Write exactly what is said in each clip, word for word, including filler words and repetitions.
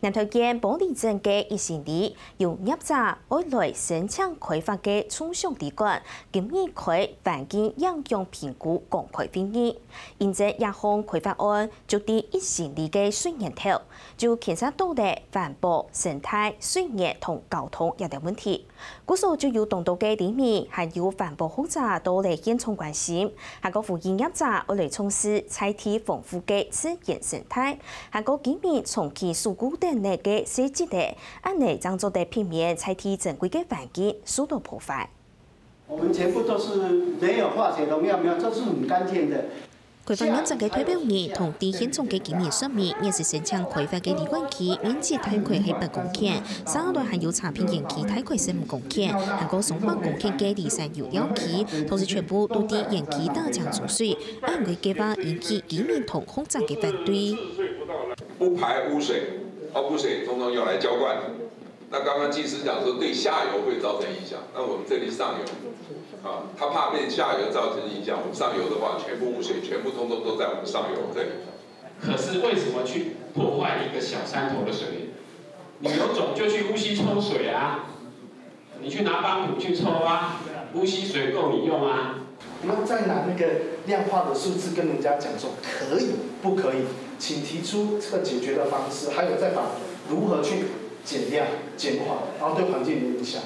南投縣埔里鎮个一心里，有業者愛來申請開發个沖上旅館，今日開環境影響評估公開會議。因為這項開發案就在一心里个水源頭，就牽涉到了環保、生態、水源同交通這兜問題。 故所就有當多个里民還有環保學者到來現場關心，還過呼籲業者愛來重視在地豐富个自然生態，還過居民長期守護等等个細節仔，恁仔正做得避免在地珍貴个環境受到破壞。我们全部都是没有化学农药，没有，都是很干净的。 開發業者个代表人同在現場个居民說明，若係申請開發个旅館區面積大概係八公頃，續下來還有查評園區大概十五公頃，還過上百公頃个離山遊釣區，同時全部都在園區打淨沖水，恁樣个計畫引起居民同學者个反對。不排污水，哦，污水通通用来浇灌。那刚刚技师讲说对下游会造成影响，那我们这里上游，啊，他怕被下游造成影响，我们上游的话，全部污水全部通通都在我们上游这里。可是为什么去破坏一个小山头的水源？你有种就去乌溪抽水啊！你去拿帮浦去抽啊，乌溪水够你用啊！不要再拿那个量化的数字跟人家讲说可以不可以，请提出这个解决的方式，还有再把如何去减量、减缓，然后对环境的影响。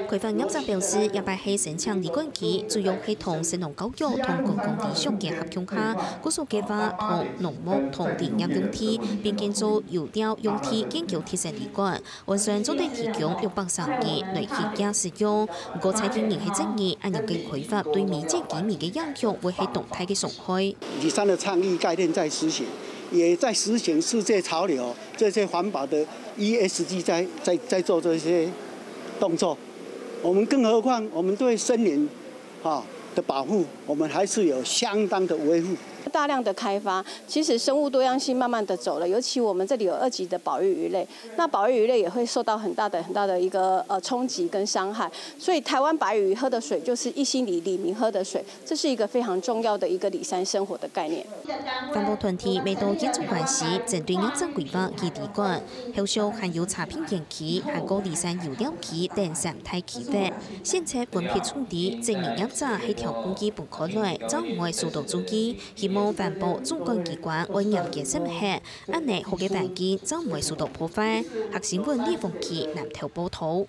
開發業者表示，這擺係申請旅館區，主要係同食農教育同觀光理想結合共下，故所計畫同農牧同林業用地，並建造遊釣用地建構特色旅館， 按算做得提供六百三人來歇腳使用。毋過在地人係質疑，恁樣个開發對尾跡居民个影響會係當大个傷害。里山的倡议概念在实行，也在实行世界潮流，这些环保的E S G在在在做这些动作。我们更何况我们对森林啊的保护，我们还是有相当的维护。大量的开发，其实生物多样性慢慢的走了，尤其我们这里有二级的保育鱼类，那保育鱼类也会受到很大的很大的一个呃冲击跟伤害，所以台湾白鱼喝的水就是一心里里民喝的水，这是一个非常重要的一个里山生活的概念。環保團體乜到現場關心，針對業者規劃个旅館，後續還有茶品園區、還過里山遊釣區等三大區域，現在分別處理，質疑業者係挑工具分開來，正毋會受到注意。 希望環保主管機關愛嚴格審核，恁樣好个環境正毋會受到破壞。客新聞李鳳琪南投報導。